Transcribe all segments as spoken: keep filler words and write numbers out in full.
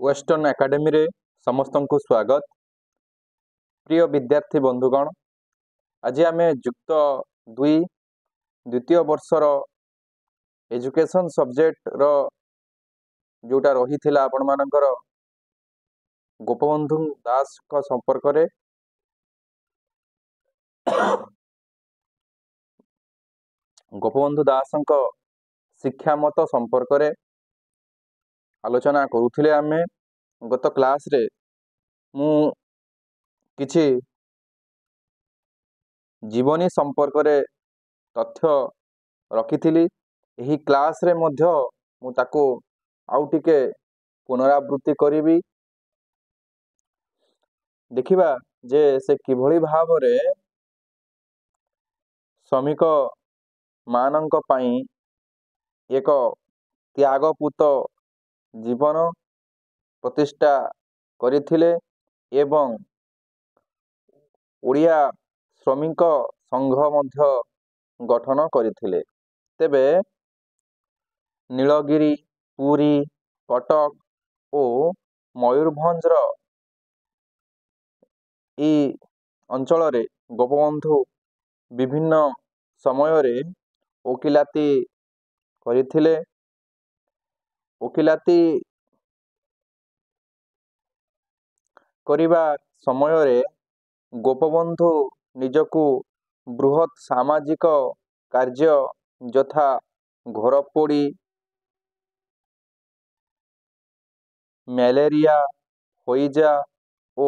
Western ଏକାଡେମୀରେ ସମସ୍ତଙ୍କୁ ସ୍ୱାଗତ। ପ୍ରିୟ ବିଦ୍ୟାର୍ଥୀ ବନ୍ଧୁଗଣ, ଆଜି ଆମେ ଯୁକ୍ତ ଦୁଇ ଦ୍ୱିତୀୟ ବର୍ଷର ଏଜୁକେସନ୍ ସବଜେକ୍ଟର ଯେଉଁଟା ରହିଥିଲା ଆପଣମାନଙ୍କର ଗୋପବନ୍ଧୁ ଦାସଙ୍କ ସମ୍ପର୍କରେ, ଗୋପବନ୍ଧୁ ଦାସଙ୍କ ଶିକ୍ଷାମତ ସମ୍ପର୍କରେ ଆଲୋଚନା କରୁଥିଲେ। ଆମେ ଗତ କ୍ଲାସ୍ରେ ମୁଁ କିଛି ଜୀବନୀ ସମ୍ପର୍କରେ ତଥ୍ୟ ରଖିଥିଲି। ଏହି କ୍ଲାସ୍ରେ ମଧ୍ୟ ମୁଁ ତାକୁ ଆଉ ଟିକେ ପୁନରାବୃତ୍ତି କରିବି। ଦେଖିବା ଯେ ସେ କିଭଳି ଭାବରେ ଶ୍ରମିକ ମାନଙ୍କ ପାଇଁ ଏକ ତ୍ୟାଗପୂତ ଜୀବନ ପ୍ରତିଷ୍ଠା କରିଥିଲେ ଏବଂ ଓଡ଼ିଆ ଶ୍ରମିକ ସଂଘ ମଧ୍ୟ ଗଠନ କରିଥିଲେ। ତେବେ ନୀଳଗିରି, ପୁରୀ, କଟକ ଓ ମୟୂରଭଞ୍ଜର ଏଇ ଅଞ୍ଚଳରେ ଗୋପବନ୍ଧୁ ବିଭିନ୍ନ ସମୟରେ ଓକିଲାତି କରିଥିଲେ। ଓକିଲାତି କରିବା ସମୟରେ ଗୋପବନ୍ଧୁ ନିଜକୁ ବୃହତ୍ ସାମାଜିକ କାର୍ଯ୍ୟ ଯଥା ଘରପୋଡ଼ି, ମ୍ୟାଲେରିଆ, ହଇଜା ଓ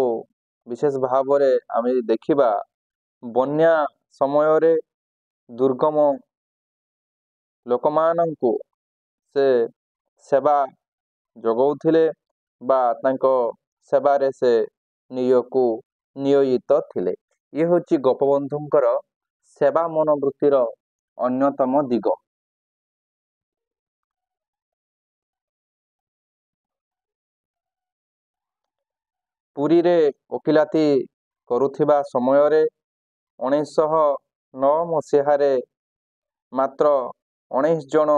ବିଶେଷ ଭାବରେ ଆମେ ଦେଖିବା ବନ୍ୟା ସମୟରେ ଦୁର୍ଗମ ଲୋକମାନଙ୍କୁ ସେ ସେବା ଯୋଗାଉଥିଲେ ବା ତାଙ୍କ ସେବାରେ ସେ ନିଜକୁ ନିୟୋଜିତ ଥିଲେ। ଇଏ ହେଉଛି ଗୋପବନ୍ଧୁଙ୍କର ସେବା ମନୋବୃତ୍ତିର ଅନ୍ୟତମ ଦିଗ। ପୁରୀରେ ଓକିଲାତି କରୁଥିବା ସମୟରେ ଉଣେଇଶହ ନଅ ମସିହାରେ ମାତ୍ର ଉଣେଇଶ ଜଣ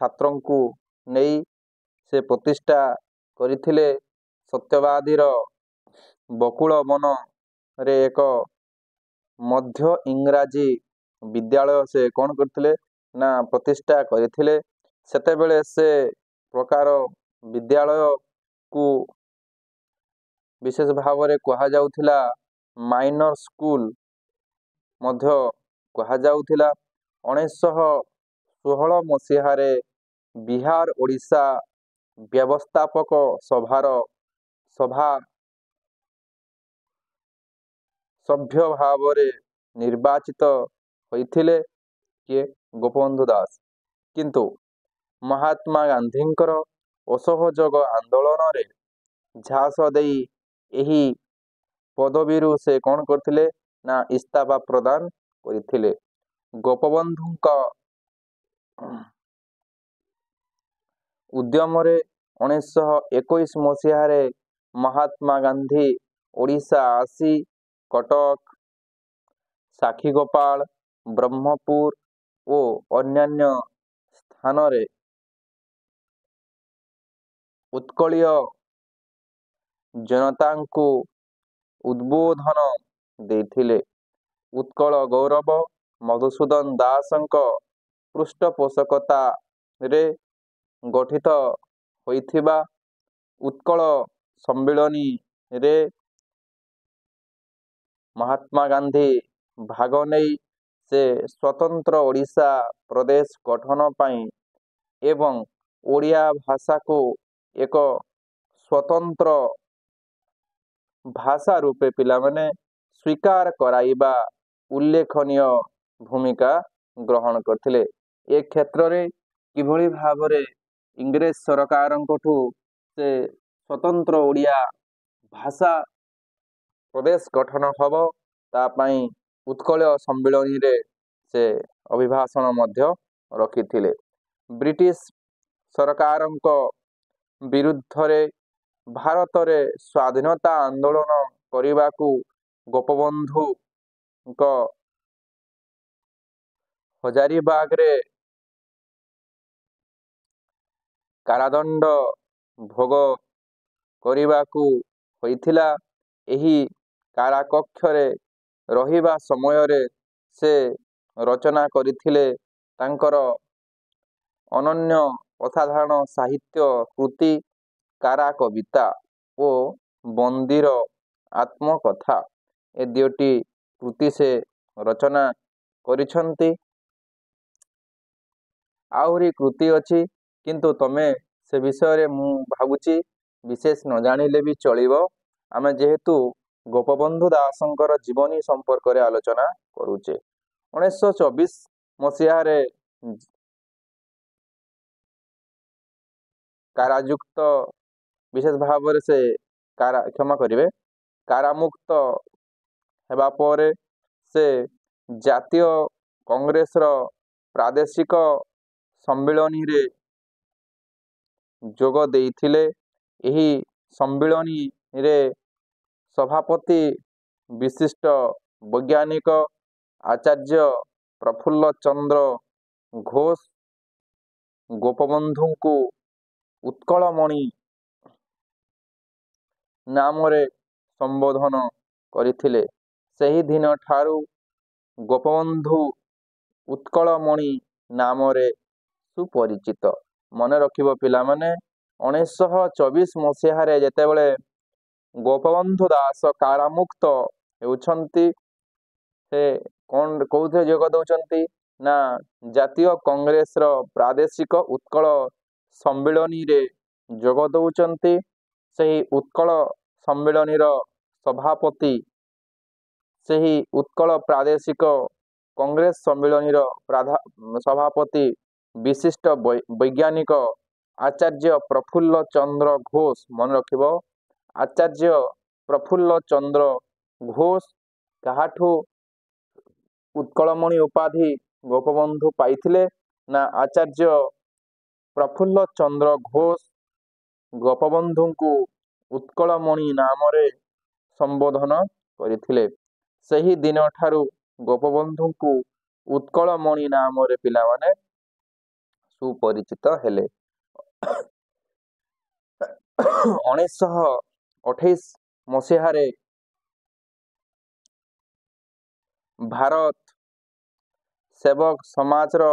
ଛାତ୍ରଙ୍କୁ ନେଇ ସେ ପ୍ରତିଷ୍ଠା କରିଥିଲେ ସତ୍ୟବାଦୀର ବକୁଳ ବନରେ ଏକ ମଧ୍ୟ ଇଂରାଜୀ ବିଦ୍ୟାଳୟ। ସେ କ'ଣ କରିଥିଲେ ନା ପ୍ରତିଷ୍ଠା କରିଥିଲେ। ସେତେବେଳେ ସେ ପ୍ରକାର ବିଦ୍ୟାଳୟକୁ ବିଶେଷ ଭାବରେ କୁହାଯାଉଥିଲା ମାଇନର ସ୍କୁଲ ମଧ୍ୟ କୁହାଯାଉଥିଲା। ଉଣେଇଶହ ଷୋହଳ ମସିହାରେ ବିହାର ଓଡ଼ିଶା ବ୍ୟବସ୍ଥାପକ ସଭାର ସଭା ସଭ୍ୟ ଭାବରେ ନିର୍ବାଚିତ ହୋଇଥିଲେ କିଏ? ଗୋପବନ୍ଧୁ ଦାସ। କିନ୍ତୁ ମହାତ୍ମା ଗାନ୍ଧୀଙ୍କର ଅସହଯୋଗ ଆନ୍ଦୋଳନରେ ଝାସ ଦେଇ ଏହି ପଦବୀରୁ ସେ କ'ଣ କରିଥିଲେ ନା ଇସ୍ତଫା ପ୍ରଦାନ କରିଥିଲେ। ଗୋପବନ୍ଧୁଙ୍କ ଉଦ୍ୟମରେ ଉଣେଇଶହ ଏକୋଇଶ ମସିହାରେ ମହାତ୍ମା ଗାନ୍ଧୀ ଓଡ଼ିଶା ଆସି କଟକ, ସାକ୍ଷୀଗୋପାଳ, ବ୍ରହ୍ମପୁର ଓ ଅନ୍ୟାନ୍ୟ ସ୍ଥାନରେ ଉତ୍କଳୀୟ ଜନତାଙ୍କୁ ଉଦ୍ବୋଧନ ଦେଇଥିଲେ। ଉତ୍କଳ ଗୌରବ ମଧୁସୂଦନ ଦାସଙ୍କ ପୃଷ୍ଠପୋଷକତାରେ ଗଠିତ ହୋଇଥିବା ଉତ୍କଳ ସମ୍ମିଳନୀରେ ମହାତ୍ମା ଗାନ୍ଧୀ ଭାଗ ନେଇ ସେ ସ୍ୱତନ୍ତ୍ର ଓଡ଼ିଶା ପ୍ରଦେଶ ଗଠନ ପାଇଁ ଏବଂ ଓଡ଼ିଆ ଭାଷାକୁ ଏକ ସ୍ୱତନ୍ତ୍ର ଭାଷା ରୂପେ ପିଲାମାନେ ସ୍ୱୀକାର କରାଇବା ଉଲ୍ଲେଖନୀୟ ଭୂମିକା ଗ୍ରହଣ କରିଥିଲେ। ଏ କ୍ଷେତ୍ରରେ କିଭଳି ଭାବରେ ଇଂରେଜ ସରକାରଙ୍କଠୁ ସେ ସ୍ୱତନ୍ତ୍ର ଓଡ଼ିଆ ଭାଷା ପ୍ରଦେଶ ଗଠନ ହେବ ତା ପାଇଁ ଉତ୍କଳ ସମ୍ମିଳନୀରେ ସେ ଅଭିଭାଷଣ ମଧ୍ୟ ରଖିଥିଲେ। ବ୍ରିଟିଶ ସରକାରଙ୍କ ବିରୁଦ୍ଧରେ ଭାରତରେ ସ୍ୱାଧୀନତା ଆନ୍ଦୋଳନ କରିବାକୁ ଗୋପବନ୍ଧୁଙ୍କ ହଜାରିବାଗରେ କାରାଦଣ୍ଡ ଭୋଗ କରିବାକୁ ହୋଇଥିଲା। ଏହି କାରାକକ୍ଷରେ ରହିବା ସମୟରେ ସେ ରଚନା କରିଥିଲେ ତାଙ୍କର ଅନନ୍ୟ ଅସାଧାରଣ ସାହିତ୍ୟ କୃତି କାରା କବିତା ଓ ବନ୍ଦୀର ଆତ୍ମକଥା। ଏ ଦୁଇଟି କୃତି ସେ ରଚନା କରିଛନ୍ତି। ଆହୁରି କୃତି ଅଛି, କିନ୍ତୁ ତମେ ସେ ବିଷୟରେ ମୁଁ ଭାବୁଛି ବିଶେଷ ନ ଜାଣିଲେ ବି ଚଳିବ। ଆମେ ଯେହେତୁ ଗୋପବନ୍ଧୁ ଦାସଙ୍କର ଜୀବନୀ ସମ୍ପର୍କରେ ଆଲୋଚନା କରୁଛେ। ଉଣେଇଶହ ଚବିଶ ମସିହାରେ କାରାଯୁକ୍ତ, ବିଶେଷ ଭାବରେ ସେ କାରା, କ୍ଷମା କରିବେ, କାରାମୁକ୍ତ ହେବା ପରେ ସେ ଜାତୀୟ କଂଗ୍ରେସର ପ୍ରାଦେଶିକ ସମ୍ମିଳନୀରେ ଯୋଗ ଦେଇଥିଲେ। ଏହି ସମ୍ମିଳନୀରେ ସଭାପତି ବିଶିଷ୍ଟ ବୈଜ୍ଞାନିକ ଆଚାର୍ଯ୍ୟ ପ୍ରଫୁଲ୍ଲ ଚନ୍ଦ୍ର ଘୋଷ ଗୋପବନ୍ଧୁଙ୍କୁ ଉତ୍କଳମଣି ନାମରେ ସମ୍ବୋଧନ କରିଥିଲେ। ସେହିଦିନଠାରୁ ଗୋପବନ୍ଧୁ ଉତ୍କଳମଣି ନାମରେ ସୁପରିଚିତ। ମନେ ରଖିବ ପିଲାମାନେ, ଉଣେଇଶହ ଚବିଶ ମସିହାରେ ଯେତେବେଳେ ଗୋପବନ୍ଧୁ ଦାସ କାରାମୁକ୍ତ ହେଉଛନ୍ତି, ସେ କ'ଣ କୋଉଥିରେ ଯୋଗ ଦେଉଛନ୍ତି ନା ଜାତୀୟ କଂଗ୍ରେସର ପ୍ରାଦେଶିକ ଉତ୍କଳ ସମ୍ମିଳନୀରେ ଯୋଗ ଦେଉଛନ୍ତି। ସେହି ଉତ୍କଳ ସମ୍ମିଳନୀର ସଭାପତି, ସେହି ଉତ୍କଳ ପ୍ରାଦେଶିକ କଂଗ୍ରେସ ସମ୍ମିଳନୀର ସଭାପତି ବିଶିଷ୍ଟ ବୈଜ୍ଞାନିକ ଆଚାର୍ଯ୍ୟ ପ୍ରଫୁଲ୍ଲ ଚନ୍ଦ୍ର ଘୋଷ, ମନେ ରଖିବ, ଆଚାର୍ଯ୍ୟ ପ୍ରଫୁଲ୍ଲ ଚନ୍ଦ୍ର ଘୋଷ କାହାଠୁ ଉତ୍କଳମଣି ଉପାଧି ଗୋପବନ୍ଧୁ ପାଇଥିଲେ ନା ଆଚାର୍ଯ୍ୟ ପ୍ରଫୁଲ୍ଲ ଚନ୍ଦ୍ର ଘୋଷ ଗୋପବନ୍ଧୁଙ୍କୁ ଉତ୍କଳମଣି ନାମରେ ସମ୍ବୋଧନ କରିଥିଲେ। ସେହି ଦିନଠାରୁ ଗୋପବନ୍ଧୁଙ୍କୁ ଉତ୍କଳମଣି ନାମରେ ପିଲାମାନେ ସୁପରିଚିତ ହେଲେ। ଉଣେଇଶହ ଅଠେଇଶ ମସିହାରେ ଭାରତ ସେବକ ସମାଜର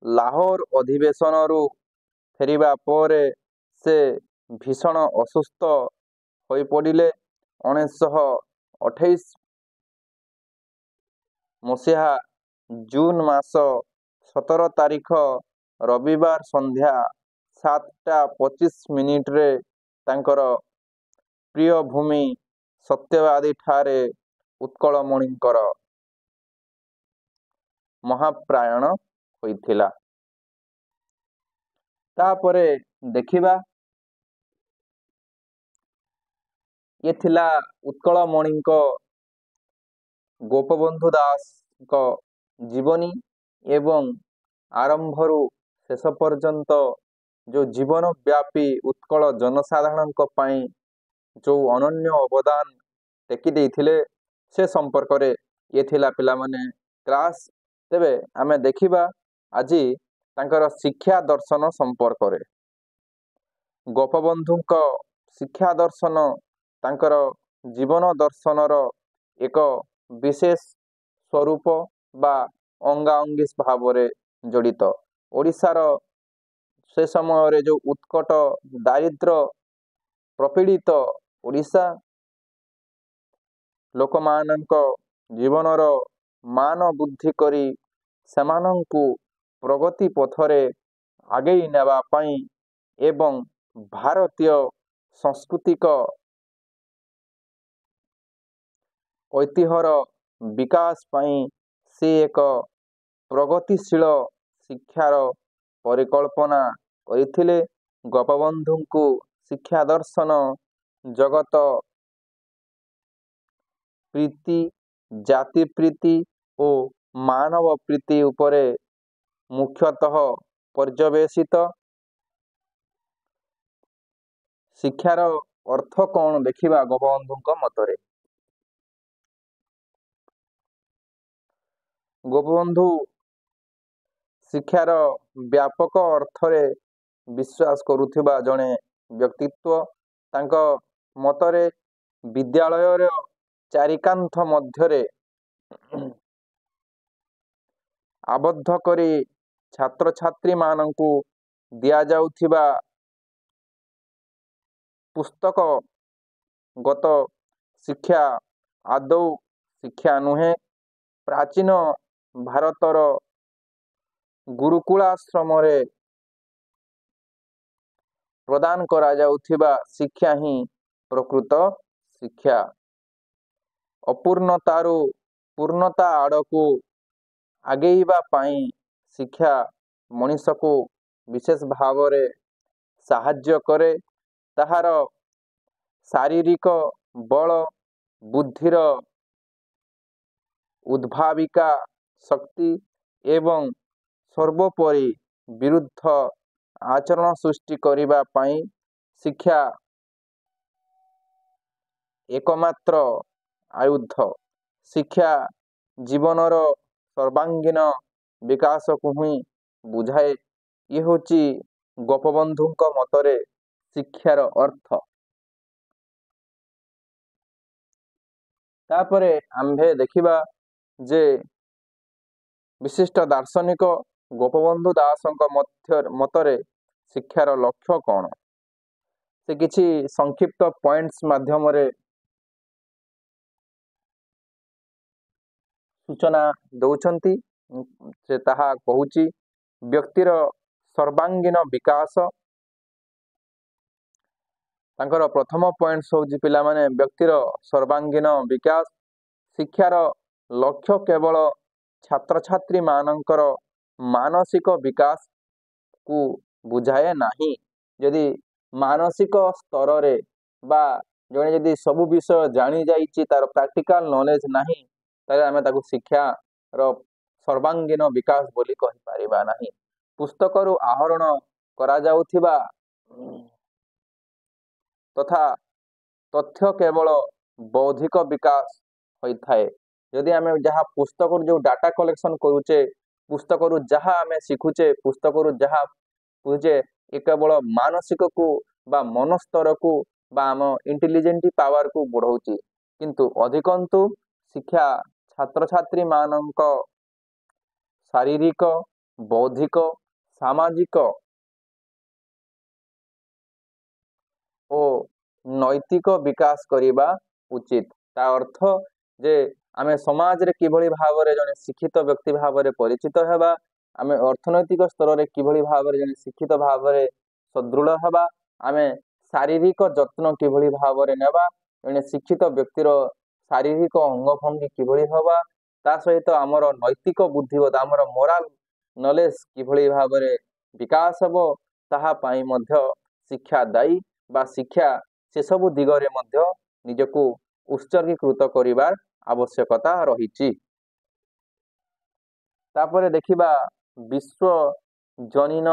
ଲାହୋର ଅଧିବେଶନରୁ ଫେରିବା ପରେ ସେ ଭୀଷଣ ଅସୁସ୍ଥ ହୋଇପଡ଼ିଲେ। ଉଣେଇଶହ ଅଠେଇଶ ମସିହା ଜୁନ ମାସ ସତର ତାରିଖ ରବିବାର ସନ୍ଧ୍ୟା ସାତଟା ପଚିଶ ମିନିଟରେ ତାଙ୍କର ପ୍ରିୟ ଭୂମି ସତ୍ୟବାଦୀ ଠାରେ ଉତ୍କଳମଣିଙ୍କର ମହାପ୍ରୟାଣ ହୋଇଥିଲା। ତାପରେ ଦେଖିବା, ଇଏ ଥିଲା ଉତ୍କଳମଣିଙ୍କ ଗୋପବନ୍ଧୁ ଦାସଙ୍କ ଜୀବନୀ ଏବଂ ଆରମ୍ଭରୁ ଶେଷ ପର୍ଯ୍ୟନ୍ତ ଯେଉଁ ଜୀବନବ୍ୟାପୀ ଉତ୍କଳ ଜନସାଧାରଣଙ୍କ ପାଇଁ ଯେଉଁ ଅନନ୍ୟ ଅବଦାନ ଟେକି ଦେଇଥିଲେ ସେ ସମ୍ପର୍କରେ ଇଏ ଥିଲା ପିଲାମାନେ କ୍ଲାସ୍। ତେବେ ଆମେ ଦେଖିବା ଆଜି ତାଙ୍କର ଶିକ୍ଷା ଦର୍ଶନ ସମ୍ପର୍କରେ। ଗୋପବନ୍ଧୁଙ୍କ ଶିକ୍ଷା ଦର୍ଶନ ତାଙ୍କର ଜୀବନ ଦର୍ଶନର ଏକ ବିଶେଷ ସ୍ୱରୂପ ବା ଅଙ୍ଗାଅଙ୍ଗୀ ଭାବରେ ଜଡ଼ିତ। ଓଡ଼ିଶାର ସେ ସମୟରେ ଯେଉଁ ଉତ୍କଟ ଦାରିଦ୍ର୍ୟ ପ୍ରପୀଡ଼ିତ ଓଡ଼ିଶା, ଲୋକମାନଙ୍କ ଜୀବନର ମାନ ବୃଦ୍ଧି କରି ସେମାନଙ୍କୁ ପ୍ରଗତି ପଥରେ ଆଗେଇ ନେବା ପାଇଁ ଏବଂ ଭାରତୀୟ ସାଂସ୍କୃତିକ ଐତିହ୍ୟର ବିକାଶ ପାଇଁ ସେ ଏକ ପ୍ରଗତିଶୀଳ ଶିକ୍ଷାର ପରିକଳ୍ପନା କରିଥିଲେ। ଗୋପବନ୍ଧୁଙ୍କୁ ଶିକ୍ଷା ଦର୍ଶନ ଜଗତ ପ୍ରୀତି, ଜାତି ପ୍ରୀତି ଓ ମାନବ ପ୍ରୀତି ଉପରେ ମୁଖ୍ୟତଃ ପର୍ଯ୍ୟବେସିତ। ଶିକ୍ଷାର ଅର୍ଥ କ'ଣ ଦେଖିବା ଗୋପବନ୍ଧୁଙ୍କ ମତରେ। ଗୋପବନ୍ଧୁ ଶିକ୍ଷାର ବ୍ୟାପକ ଅର୍ଥରେ ବିଶ୍ୱାସ କରୁଥିବା ଜଣେ ବ୍ୟକ୍ତିତ୍ୱ। ତାଙ୍କ ମତରେ ବିଦ୍ୟାଳୟର ଚାରିକାନ୍ଥ ମଧ୍ୟରେ ଆବଦ୍ଧ କରି ଛାତ୍ରଛାତ୍ରୀମାନଙ୍କୁ ଦିଆଯାଉଥିବା ପୁସ୍ତକଗତ ଶିକ୍ଷା ଆଦୌ ଶିକ୍ଷା ନୁହେଁ। ପ୍ରାଚୀନ ଭାରତର ଗୁରୁକୁଳାଶ୍ରମରେ ପ୍ରଦାନ କରାଯାଉଥିବା ଶିକ୍ଷା ହିଁ ପ୍ରକୃତ ଶିକ୍ଷା। ଅପୂର୍ଣ୍ଣତାରୁ ପୂର୍ଣ୍ଣତା ଆଡ଼କୁ ଆଗେଇବା ପାଇଁ ଶିକ୍ଷା ମଣିଷକୁ ବିଶେଷ ଭାବରେ ସାହାଯ୍ୟ କରେ। ତାହାର ଶାରୀରିକ ବଳ, ବୁଦ୍ଧିର ଉଦ୍ଭାବିକା ଶକ୍ତି ଏବଂ ସର୍ବୋପରି ବିରୁଦ୍ଧ ଆଚରଣ ସୃଷ୍ଟି କରିବା ପାଇଁ ଶିକ୍ଷା ଏକମାତ୍ର ଆୟୁଧ। ଶିକ୍ଷା ଜୀବନର ସର୍ବାଙ୍ଗୀନ ବିକାଶକୁ ହିଁ ବୁଝାଏ। ଇଏ ହେଉଛି ଗୋପବନ୍ଧୁଙ୍କ ମତରେ ଶିକ୍ଷାର ଅର୍ଥ। ତାପରେ ଆମ୍ଭେ ଦେଖିବା ଯେ ବିଶିଷ୍ଟ ଦାର୍ଶନିକ ଗୋପବନ୍ଧୁ ଦାସଙ୍କ ମଧ୍ୟ ମତରେ ଶିକ୍ଷାର ଲକ୍ଷ୍ୟ କ'ଣ। ସେ କିଛି ସଂକ୍ଷିପ୍ତ ପଏଣ୍ଟସ୍ ମାଧ୍ୟମରେ ସୂଚନା ଦେଉଛନ୍ତି। ସେ ତାହା କହୁଛି, ବ୍ୟକ୍ତିର ସର୍ବାଙ୍ଗୀନ ବିକାଶ। ତାଙ୍କର ପ୍ରଥମ ପଏଣ୍ଟସ୍ ହେଉଛି ପିଲାମାନେ, ବ୍ୟକ୍ତିର ସର୍ବାଙ୍ଗୀନ ବିକାଶ। ଶିକ୍ଷାର ଲକ୍ଷ୍ୟ କେବଳ ଛାତ୍ରଛାତ୍ରୀମାନଙ୍କର ମାନସିକ ବିକାଶକୁ ବୁଝାଏ ନାହିଁ। ଯଦି ମାନସିକ ସ୍ତରରେ ବା ଜଣେ ଯଦି ସବୁ ବିଷୟ ଜାଣି ଯାଇଛି, ତାର ପ୍ରାକ୍ଟିକାଲ ନଲେଜ ନାହିଁ, ତାହେଲେ ଆମେ ତାକୁ ଶିକ୍ଷାର ସର୍ବାଙ୍ଗୀନ ବିକାଶ ବୋଲି କହିପାରିବା ନାହିଁ। ପୁସ୍ତକରୁ ଆହରଣ କରାଯାଉଥିବା ତଥା ତଥ୍ୟ କେବଳ ବୌଦ୍ଧିକ ବିକାଶ ହୋଇଥାଏ। ଯଦି ଆମେ ଯାହା ପୁସ୍ତକରୁ ଯେଉଁ ଡାଟା କଲେକ୍ସନ କରୁଛେ, ପୁସ୍ତକରୁ ଯାହା ଆମେ ଶିଖୁଛେ, ପୁସ୍ତକରୁ ଯାହା ବୁଝୁଛେ, ଏ କେବଳ ମାନସିକକୁ ବା ମନସ୍ତରକୁ ବା ଆମ ଇଣ୍ଟେଲିଜେଣ୍ଟ ପାୱାରକୁ ବଢ଼ଉଛି। କିନ୍ତୁ ଅଧିକନ୍ତୁ ଶିକ୍ଷା ଛାତ୍ରଛାତ୍ରୀମାନଙ୍କ ଶାରୀରିକ, ବୌଦ୍ଧିକ, ସାମାଜିକ ଓ ନୈତିକ ବିକାଶ କରିବା ଉଚିତ। ତା ଅର୍ଥ ଯେ ଆମେ ସମାଜରେ କିଭଳି ଭାବରେ ଜଣେ ଶିକ୍ଷିତ ବ୍ୟକ୍ତି ଭାବରେ ପରିଚିତ ହେବା, ଆମେ ଅର୍ଥନୈତିକ ସ୍ତରରେ କିଭଳି ଭାବରେ ଜଣେ ଶିକ୍ଷିତ ଭାବରେ ସୁଦୃଢ଼ ହେବା, ଆମେ ଶାରୀରିକ ଯତ୍ନ କିଭଳି ଭାବରେ ନେବା, ଜଣେ ଶିକ୍ଷିତ ବ୍ୟକ୍ତିର ଶାରୀରିକ ଅଙ୍ଗଭଙ୍ଗୀ କିଭଳି ହେବା, ତା ସହିତ ଆମର ନୈତିକ ବୁଦ୍ଧିବତ୍ତା, ଆମର ମୋରାଲ ନଲେଜ କିଭଳି ଭାବରେ ବିକାଶ ହେବ, ତାହା ପାଇଁ ମଧ୍ୟ ଶିକ୍ଷା ଦାୟୀ ବା ଶିକ୍ଷା ସେସବୁ ଦିଗରେ ମଧ୍ୟ ନିଜକୁ ଉତ୍ସର୍ଗୀକୃତ କରିବାର ଆବଶ୍ୟକତା ରହିଛି। ତାପରେ ଦେଖିବା ବିଶ୍ୱ ଜନୀନ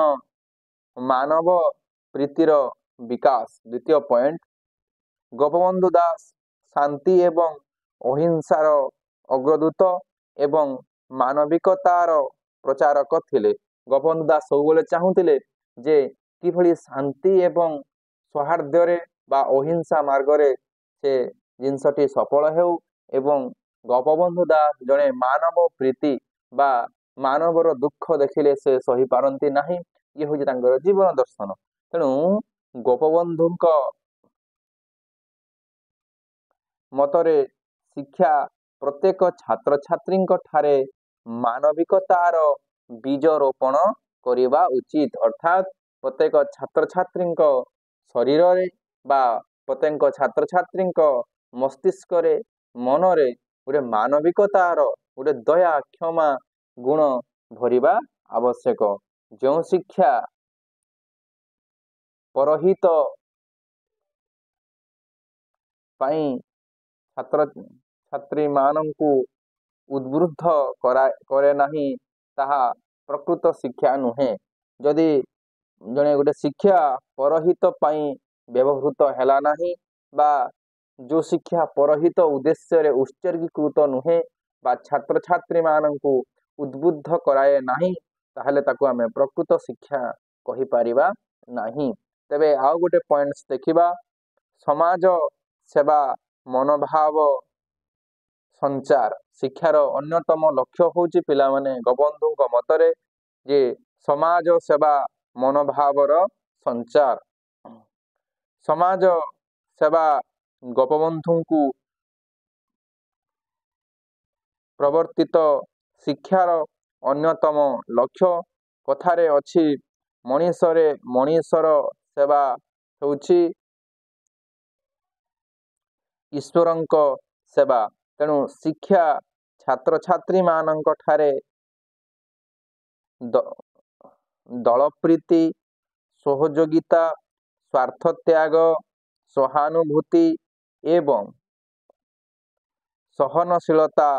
ମାନବ ପ୍ରୀତିର ବିକାଶ। ଦ୍ୱିତୀୟ ପଏଣ୍ଟ, ଗୋପବନ୍ଧୁ ଦାସ ଶାନ୍ତି ଏବଂ ଅହିଂସାର ଅଗ୍ରଦୂତ ଏବଂ ମାନବିକତାର ପ୍ରଚାରକ ଥିଲେ। ଗୋପବନ୍ଧୁ ଦାସ ସବୁବେଳେ ଚାହୁଁଥିଲେ ଯେ କିଭଳି ଶାନ୍ତି ଏବଂ ସୌହାର୍ଦ୍ଦ୍ୟରେ ବା ଅହିଂସା ମାର୍ଗରେ ସେ ଜିନିଷଟି ସଫଳ ହେଉ। ଏବଂ ଗୋପବନ୍ଧୁ ଦାସ ଜଣେ ମାନବ ପ୍ରୀତି ବା ମାନବର ଦୁଃଖ ଦେଖିଲେ ସେ ସହିପାରନ୍ତି ନାହିଁ। ଇଏ ହେଉଛି ତାଙ୍କର ଜୀବନ ଦର୍ଶନ। ତେଣୁ ଗୋପବନ୍ଧୁଙ୍କ ମତରେ ଶିକ୍ଷା ପ୍ରତ୍ୟେକ ଛାତ୍ରଛାତ୍ରୀଙ୍କ ଠାରେ ମାନବିକତାର ବୀଜ ରୋପଣ କରିବା ଉଚିତ। ଅର୍ଥାତ୍ ପ୍ରତ୍ୟେକ ଛାତ୍ରଛାତ୍ରୀଙ୍କ ଶରୀରରେ ବା ପ୍ରତ୍ୟେକ ଛାତ୍ରଛାତ୍ରୀଙ୍କ ମସ୍ତିଷ୍କରେ, ମନରେ ଗୋଟେ ମାନବିକତାର ଗୋଟେ ଦୟା, କ୍ଷମା ଗୁଣ ଭରିବା ଆବଶ୍ୟକ। ଯେଉଁ ଶିକ୍ଷା ପରହିତ ପାଇଁ ଛାତ୍ରଛାତ୍ରୀମାନଙ୍କୁ ଉଦ୍ବୁଦ୍ଧ କରେ ନାହିଁ, ତାହା ପ୍ରକୃତ ଶିକ୍ଷା ନୁହେଁ। ଯଦି ଜଣେ ଗୋଟେ ଶିକ୍ଷା ପରହିତ ପାଇଁ ବ୍ୟବହୃତ ହେଲା ନାହିଁ ବା ଯେଉଁ ଶିକ୍ଷା ପରହିତ ଉଦ୍ଦେଶ୍ୟରେ ଉତ୍ସର୍ଗୀକୃତ ନୁହେଁ ବା ଛାତ୍ରଛାତ୍ରୀମାନଙ୍କୁ ଉଦ୍ବୁଦ୍ଧ କରାଏ ନାହିଁ, ତାହେଲେ ତାକୁ ଆମେ ପ୍ରକୃତ ଶିକ୍ଷା କହିପାରିବା ନାହିଁ। ତେବେ ଆଉ ଗୋଟେ ପଏଣ୍ଟସ୍ ଦେଖିବା, ସମାଜ ସେବା ମନୋଭାବ ସଞ୍ଚାର। ଶିକ୍ଷାର ଅନ୍ୟତମ ଲକ୍ଷ୍ୟ ହେଉଛି ପିଲାମାନେ, ଗୋପବନ୍ଧୁଙ୍କ ମତରେ ଯେ ସମାଜ ସେବା ମନୋଭାବର ସଞ୍ଚାର। ସମାଜ ସେବା ଗୋପବନ୍ଧୁଙ୍କୁ ପ୍ରବର୍ତ୍ତିତ ଶିକ୍ଷାର ଅନ୍ୟତମ ଲକ୍ଷ୍ୟ। କଥାରେ ଅଛି, ମଣିଷରେ ମଣିଷର ସେବା ହେଉଛି ଈଶ୍ୱରଙ୍କ ସେବା। ତେଣୁ ଶିକ୍ଷା ଛାତ୍ରଛାତ୍ରୀମାନଙ୍କ ଠାରେ ଦଳପ୍ରୀତି, ସହଯୋଗିତା, ସ୍ୱାର୍ଥତ୍ୟାଗ, ସହାନୁଭୂତି ଏବଂ ସହନଶୀଳତା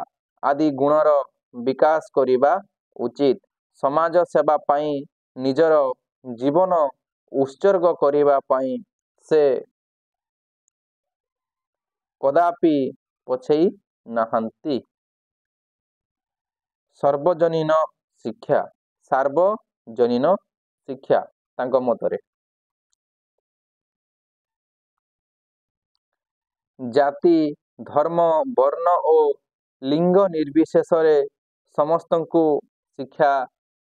ଆଦି ଗୁଣର ବିକାଶ କରିବା ଉଚିତ। ସମାଜ ସେବା ପାଇଁ ନିଜର ଜୀବନ ଉତ୍ସର୍ଗ କରିବା ପାଇଁ ସେ କଦାପି ପଛେଇ ନାହାନ୍ତି। ସର୍ବଜନୀନ ଶିକ୍ଷା, ସାର୍ବଜନୀନ ଶିକ୍ଷା ତାଙ୍କ ମତରେ ଜାତି, ଧର୍ମ, ବର୍ଣ୍ଣ ଓ ଲିଙ୍ଗ ନିର୍ବିଶେଷରେ ସମସ୍ତଙ୍କୁ ଶିକ୍ଷା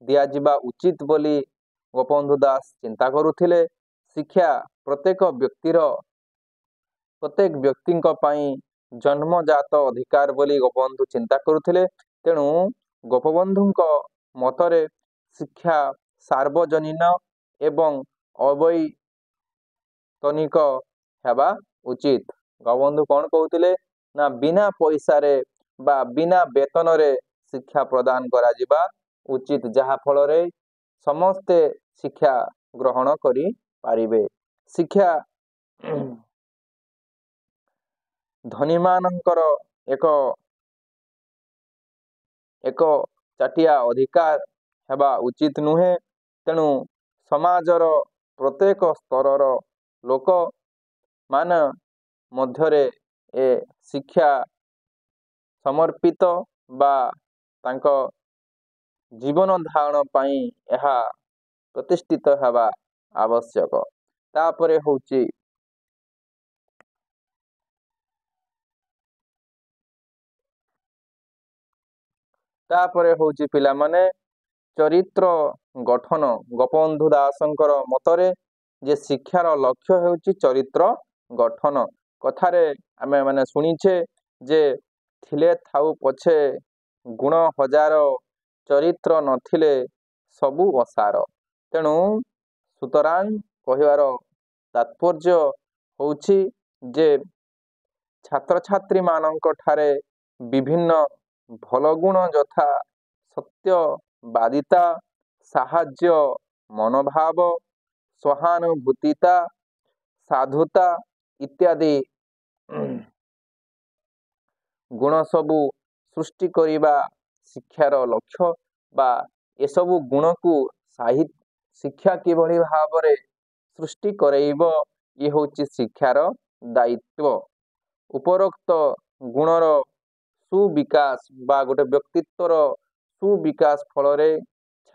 ଦିଆଯିବା ଉଚିତ ବୋଲି ଗୋପବନ୍ଧୁ ଦାସ ଚିନ୍ତା କରୁଥିଲେ। ଶିକ୍ଷା ପ୍ରତ୍ୟେକ ବ୍ୟକ୍ତିର, ପ୍ରତ୍ୟେକ ବ୍ୟକ୍ତିଙ୍କ ପାଇଁ ଜନ୍ମଜାତ ଅଧିକାର ବୋଲି ଗୋପବନ୍ଧୁ ଚିନ୍ତା କରୁଥିଲେ। ତେଣୁ ଗୋପବନ୍ଧୁଙ୍କ ମତରେ ଶିକ୍ଷା ସାର୍ବଜନୀନ ଏବଂ ଅବୈତନିକ ହେବା ଉଚିତ। ଗୋପବନ୍ଧୁ କ'ଣ କହୁଥିଲେ ନା, ବିନା ପଇସାରେ ବା ବିନା ବେତନରେ ଶିକ୍ଷା ପ୍ରଦାନ କରାଯିବା ଉଚିତ, ଯାହାଫଳରେ ସମସ୍ତେ ଶିକ୍ଷା ଗ୍ରହଣ କରିପାରିବେ। ଶିକ୍ଷା ଧନୀମାନଙ୍କର ଏକ ଏକ ଚାଟିଆ ଅଧିକାର ହେବା ଉଚିତ ନୁହେଁ। ତେଣୁ ସମାଜର ପ୍ରତ୍ୟେକ ସ୍ତରର ଲୋକମାନ ମଧ୍ୟରେ ଏ ଶିକ୍ଷା ସମର୍ପିତ ବା ତାଙ୍କ ଜୀବନ ଧାରଣ ପାଇଁ ଏହା ପ୍ରତିଷ୍ଠିତ ହେବା ଆବଶ୍ୟକ। ତାପରେ ହେଉଛି ତାପରେ ହେଉଛି ପିଲାମାନେ, ଚରିତ୍ର ଗଠନ। ଗୋପବନ୍ଧୁ ଦାସଙ୍କର ମତରେ ଯେ ଶିକ୍ଷାର ଲକ୍ଷ୍ୟ ହେଉଛି ଚରିତ୍ର ଗଠନ। କଥାରେ ଆମେ ମାନେ ଶୁଣିଛେ ଯେ ଥିଲେ ଥାଉ ପଛେ ଗୁଣ ହଜାର, ଚରିତ୍ର ନଥିଲେ ସବୁ ଅସାର। ତେଣୁ ସୁତରାଂ କହିବାର ତାତ୍ପର୍ଯ୍ୟ ହେଉଛି ଯେ ଛାତ୍ରଛାତ୍ରୀମାନଙ୍କ ଠାରେ ବିଭିନ୍ନ ଭଲ ଗୁଣ ଯଥା ସତ୍ୟବାଦିତା, ସାହାଯ୍ୟ ମନୋଭାବ, ସହାନୁଭୂତିତା, ସାଧୁତା ଇତ୍ୟାଦି ଗୁଣ ସବୁ ସୃଷ୍ଟି କରିବା ଶିକ୍ଷାର ଲକ୍ଷ୍ୟ, ବା ଏସବୁ ଗୁଣକୁ ସାହି ଶିକ୍ଷା କିଭଳି ଭାବରେ ସୃଷ୍ଟି କରେଇବ, ଇଏ ହେଉଛି ଶିକ୍ଷାର ଦାୟିତ୍ୱ। ଉପରୋକ୍ତ ଗୁଣର ସୁବିକାଶ ବା ଗୋଟେ ବ୍ୟକ୍ତିତ୍ୱର ସୁବିକାଶ ଫଳରେ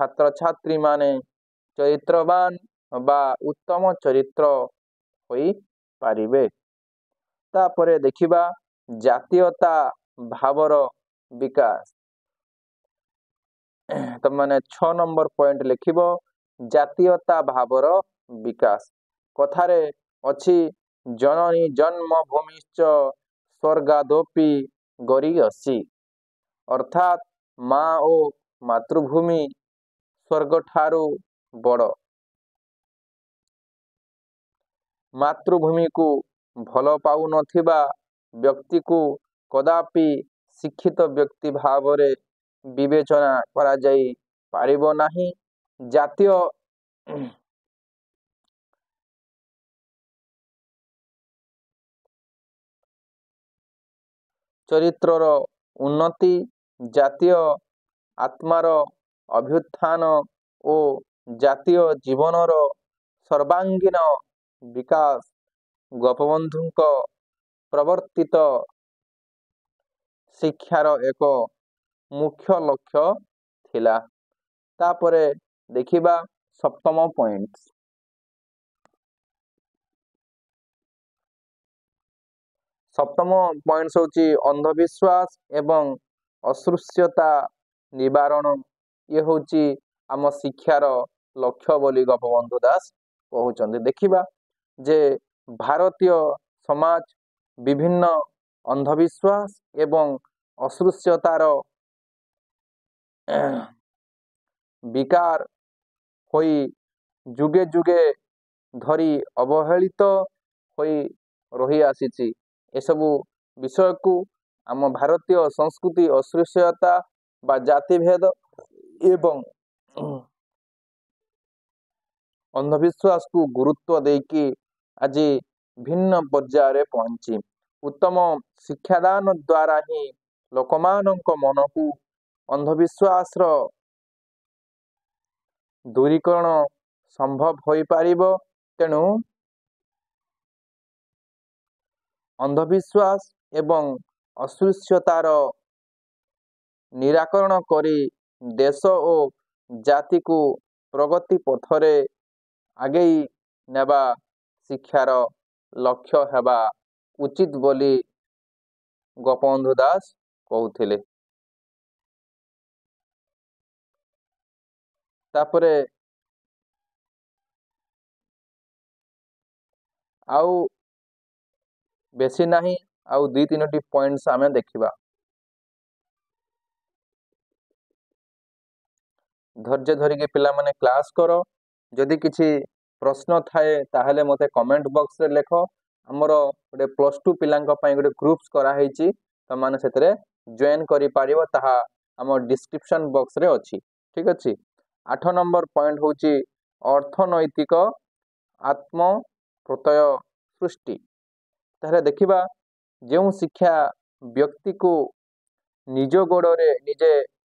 ଛାତ୍ରଛାତ୍ରୀମାନେ ଚରିତ୍ରବାନ ବା ଉତ୍ତମ ଚରିତ୍ର ହୋଇପାରିବେ। ତାପରେ ଦେଖିବା ଜାତୀୟତା ଭାବର ବିକାଶ। ତମମାନେ ଛଅ ନମ୍ବର ପଏଣ୍ଟ ଲେଖିବ, ଜାତୀୟତା ଭାବର ବିକାଶ। କଥାରେ ଅଛି, ଜନନୀ ଜନ୍ମଭୂମିଶ୍ଚ ସ୍ୱର୍ଗାଦୋପି ଗରୀୟସୀ, ଅର୍ଥାତ୍ ମା ଓ ମାତୃଭୂମି ସ୍ୱର୍ଗ ଠାରୁ ବଡ଼। ମାତୃଭୂମିକୁ ଭଲ ପାଉନଥିବା ବ୍ୟକ୍ତିକୁ କଦାପି ଶିକ୍ଷିତ ବ୍ୟକ୍ତି ଭାବରେ ବିବେଚନା କରାଯାଇ ପାରିବ ନାହିଁ। ଜାତୀୟ ଚରିତ୍ରର ଉନ୍ନତି, ଜାତୀୟ ଆତ୍ମାର ଅଭ୍ୟୁତ୍ଥାନ ଓ ଜାତୀୟ ଜୀବନର ସର୍ବାଙ୍ଗୀନ ବିକାଶ ଗୋପବନ୍ଧୁଙ୍କ ପ୍ରବର୍ତ୍ତିତ ଶିକ୍ଷାର ଏକ ମୁଖ୍ୟ ଲକ୍ଷ୍ୟ ଥିଲା। ତାପରେ ଦେଖିବା ସପ୍ତମ ପଏଣ୍ଟ। ସପ୍ତମ ପଏଣ୍ଟ ହେଉଛି ଅନ୍ଧବିଶ୍ୱାସ ଏବଂ ଅସ୍ପୃଶ୍ୟତା ନିବାରଣ। ଇଏ ହେଉଛି ଆମ ଶିକ୍ଷାର ଲକ୍ଷ୍ୟ ବୋଲି ଗୋପବନ୍ଧୁ ଦାସ କହୁଛନ୍ତି। ଦେଖିବା ଯେ ଭାରତୀୟ ସମାଜ ବିଭିନ୍ନ ଅନ୍ଧବିଶ୍ୱାସ ଏବଂ ଅସ୍ପୃଶ୍ୟତାର ବିକାର ହୋଇ ଯୁଗେ ଯୁଗେ ଧରି ଅବହେଳିତ ହୋଇ ରହିଆସିଛି। ଏସବୁ ବିଷୟକୁ ଆମ ଭାରତୀୟ ସଂସ୍କୃତି ଅସ୍ପୃଶ୍ୟତା ବା ଜାତିଭେଦ ଏବଂ ଅନ୍ଧବିଶ୍ୱାସକୁ ଗୁରୁତ୍ୱ ଦେଇକି ଆଜି ଭିନ୍ନ ପର୍ଯ୍ୟାୟରେ ପହଞ୍ଚି ଉତ୍ତମ ଶିକ୍ଷାଦାନ ଦ୍ୱାରା ହିଁ ଲୋକମାନଙ୍କ ମନକୁ ଅନ୍ଧବିଶ୍ୱାସର ଦୂରୀକରଣ ସମ୍ଭବ ହୋଇପାରିବ। ତେଣୁ ଅନ୍ଧବିଶ୍ୱାସ ଏବଂ ଅସ୍ପୃଶ୍ୟତାର ନିରାକରଣ କରି ଦେଶ ଓ ଜାତିକୁ ପ୍ରଗତି ପଥରେ ଆଗେଇ ନେବା ଶିକ୍ଷାର ଲକ୍ଷ୍ୟ ହେବା ଉଚିତ ବୋଲି ଗୋପବନ୍ଧୁ ଦାସ କହୁଥିଲେ। ତାପରେ ଆଉ ବେଶୀ ନାହିଁ, ଆଉ ଦୁଇ ତିନୋଟି ପଏଣ୍ଟସ୍ ଆମେ ଦେଖିବା। ଧୈର୍ଯ୍ୟ ଧରିକି ପିଲାମାନେ କ୍ଲାସ୍ କର। ଯଦି କିଛି ପ୍ରଶ୍ନ ଥାଏ ତାହେଲେ ମୋତେ କମେଣ୍ଟ ବକ୍ସରେ ଲେଖ। ଆମର ଗୋଟେ ପ୍ଲସ୍ ଟୁ ପିଲାଙ୍କ ପାଇଁ ଗୋଟେ ଗ୍ରୁପ୍ସ କରାହେଇଛି, ତୁମମାନେ ସେଥିରେ ଜଏନ୍ କରିପାରିବ, ତାହା ଆମ ଡିସ୍କ୍ରିପସନ୍ ବକ୍ସରେ ଅଛି। ଠିକ୍ ଅଛି। ଆଠ ନମ୍ବର ପଏଣ୍ଟ ହେଉଛି ଅର୍ଥନୈତିକ ଆତ୍ମପ୍ରତ୍ୟୟ ସୃଷ୍ଟି। ତାହେଲେ ଦେଖିବା ଯେଉଁ ଶିକ୍ଷା ବ୍ୟକ୍ତିକୁ ନିଜ ଗୋଡ଼ରେ ନିଜେ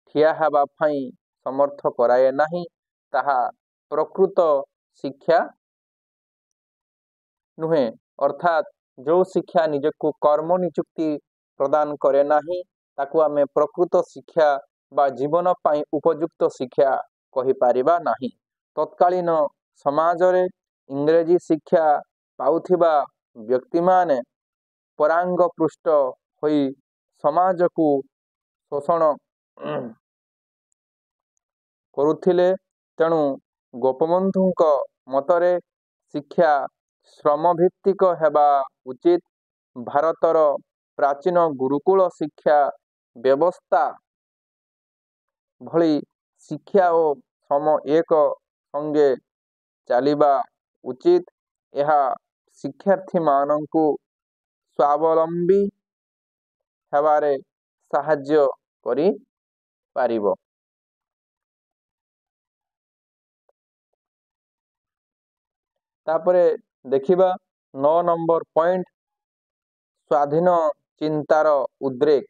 ଠିଆ ହେବା ପାଇଁ ସମର୍ଥ କରାଏ ନାହିଁ, ତାହା ପ୍ରକୃତ ଶିକ୍ଷା ନୁହେଁ। ଅର୍ଥାତ୍ ଯେଉଁ ଶିକ୍ଷା ନିଜକୁ କର୍ମ ନିଯୁକ୍ତି ପ୍ରଦାନ କରେ ନାହିଁ, ତାକୁ ଆମେ ପ୍ରକୃତ ଶିକ୍ଷା ବା ଜୀବନ ପାଇଁ ଉପଯୁକ୍ତ ଶିକ୍ଷା କହିପାରିବା ନାହିଁ। ତତ୍କାଳୀନ ସମାଜରେ ଇଂରେଜୀ ଶିକ୍ଷା ପାଉଥିବା ବ୍ୟକ୍ତିମାନେ ପରାଙ୍ଗପୃଷ୍ଟ ହୋଇ ସମାଜକୁ ଶୋଷଣ କରୁଥିଲେ। ତେଣୁ ଗୋପବନ୍ଧୁଙ୍କ ମତରେ ଶିକ୍ଷା ଶ୍ରମଭିତ୍ତିକ ହେବା ଉଚିତ। ଭାରତର ପ୍ରାଚୀନ ଗୁରୁକୁଳ ଶିକ୍ଷା ବ୍ୟବସ୍ଥା ଭଳି ଶିକ୍ଷା ଓ ଶ୍ରମ ଏକ ସଙ୍ଗେ ଚାଲିବା ଉଚିତ। ଏହା ଶିକ୍ଷାର୍ଥୀମାନଙ୍କୁ ସ୍ୱାବଲମ୍ବୀ ହେବାରେ ସାହାଯ୍ୟ କରିପାରିବ। ତାପରେ ଦେଖିବା ନଅ ନମ୍ବର ପଏଣ୍ଟ, ସ୍ୱାଧୀନ ଚିନ୍ତାର ଉଦ୍ରେକ।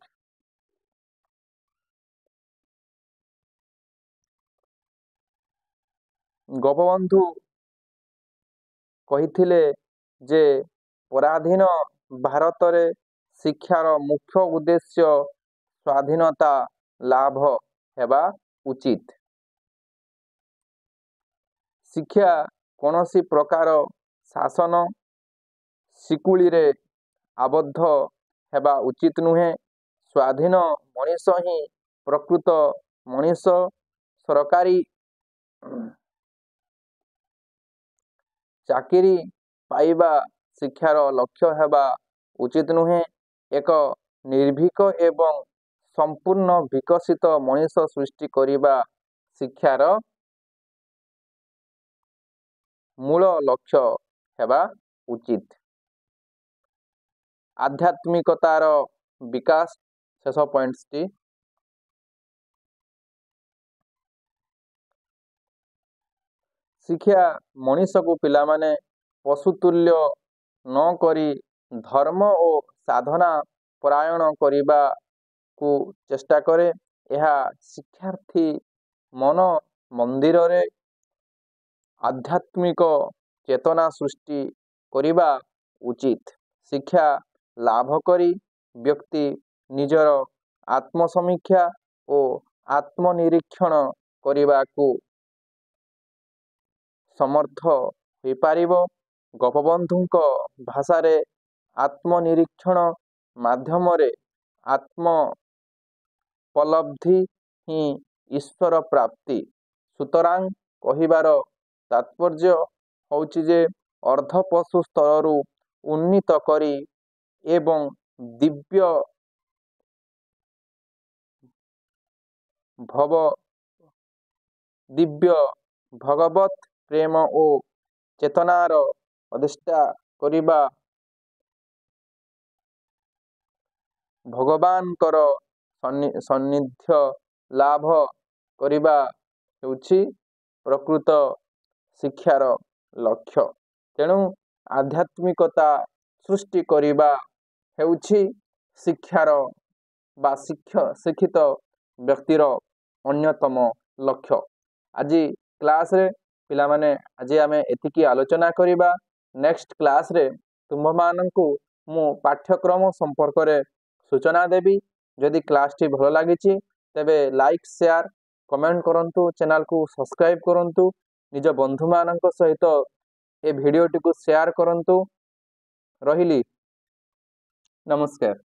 ଗୋପବନ୍ଧୁ କହିଥିଲେ ଯେ ପରାଧୀନ ଭାରତରେ ଶିକ୍ଷାର ମୁଖ୍ୟ ଉଦ୍ଦେଶ୍ୟ ସ୍ୱାଧୀନତା ଲାଭ ହେବା ଉଚିତ। ଶିକ୍ଷା କୌଣସି ପ୍ରକାର ଶାସନ ଶିକୁଳିରେ ଆବଦ୍ଧ ହେବା ଉଚିତ ନୁହେଁ। ସ୍ୱାଧୀନ ମଣିଷ ହିଁ ପ୍ରକୃତ ମଣିଷ। ସରକାରୀ ଚାକିରି ପାଇବା ଶିକ୍ଷାର ଲକ୍ଷ୍ୟ ହେବା ଉଚିତ ନୁହେଁ। ଏକ ନିର୍ଭୀକ ଏବଂ ସମ୍ପୂର୍ଣ୍ଣ ବିକଶିତ ମଣିଷ ସୃଷ୍ଟି କରିବା ଶିକ୍ଷାର ମୂଳ ଲକ୍ଷ୍ୟ ହେବା ଉଚିତ। ଆଧ୍ୟାତ୍ମିକତାର ବିକାଶ, ଶେଷ ପଏଣ୍ଟଟି। ଶିକ୍ଷା ମଣିଷକୁ ପିଲାମାନେ ପଶୁତୁଲ୍ୟ ନ କରି ଧର୍ମ ଓ ସାଧନା ପରାୟଣ କରିବାକୁ ଚେଷ୍ଟା କରେ। ଏହା ଶିକ୍ଷାର୍ଥୀ ମନ ମନ୍ଦିରରେ ଆଧ୍ୟାତ୍ମିକ ଚେତନା ସୃଷ୍ଟି କରିବା ଉଚିତ। ଶିକ୍ଷା ଲାଭ କରି ବ୍ୟକ୍ତି ନିଜର ଆତ୍ମସମୀକ୍ଷା ଓ ଆତ୍ମନିରୀକ୍ଷଣ କରିବାକୁ ସମର୍ଥ ହୋଇପାରିବ। ଗୋପବନ୍ଧୁଙ୍କ ଭାଷାରେ ଆତ୍ମନିରୀକ୍ଷଣ ମାଧ୍ୟମରେ ଆତ୍ମୋପଲବ୍ଧି ହିଁ ଈଶ୍ୱର ପ୍ରାପ୍ତି। ସୁତରାଂ କହିବାର ତାତ୍ପର୍ଯ୍ୟ ହେଉଛି ଯେ ଅର୍ଦ୍ଧପଶୁ ସ୍ତରରୁ ଉନ୍ନୀତ କରି ଏବଂ ଦିବ୍ୟ ଭବ ଦିବ୍ୟ ଭଗବତ ପ୍ରେମ ଓ ଚେତନାର ଅଧିଷ୍ଠା କରିବା, ଭଗବାନଙ୍କର ସାନ୍ନିଧ୍ୟ ଲାଭ କରିବା ହେଉଛି ପ୍ରକୃତ ଶିକ୍ଷାର ଲକ୍ଷ୍ୟ। ତେଣୁ ଆଧ୍ୟାତ୍ମିକତା ସୃଷ୍ଟି କରିବା ହେଉଛି ଶିକ୍ଷାର ବା ଶିକ୍ଷିତ ବ୍ୟକ୍ତିର ଅନ୍ୟତମ ଲକ୍ଷ୍ୟ। ଆଜି କ୍ଲାସ୍ରେ ପିଲାମାନେ, ଆଜି ଆମେ ଏତିକି ଆଲୋଚନା କରିବା। ନେକ୍ସଟ କ୍ଲାସ୍ରେ ତୁମ୍ଭମାନଙ୍କୁ ମୁଁ ପାଠ୍ୟକ୍ରମ ସମ୍ପର୍କରେ ସୂଚନା ଦେବି। ଯଦି କ୍ଲାସ୍ଟି ଭଲ ଲାଗିଛି, ତେବେ ଲାଇକ୍, ସେୟାର, କମେଣ୍ଟ କରନ୍ତୁ, ଚ୍ୟାନେଲକୁ ସବସ୍କ୍ରାଇବ୍ କରନ୍ତୁ, ନିଜ ବନ୍ଧୁମାନଙ୍କ ସହିତ ଏ ଭିଡ଼ିଓଟିକୁ ସେୟାର କରନ୍ତୁ। ରହିଲି, ନମସ୍କାର।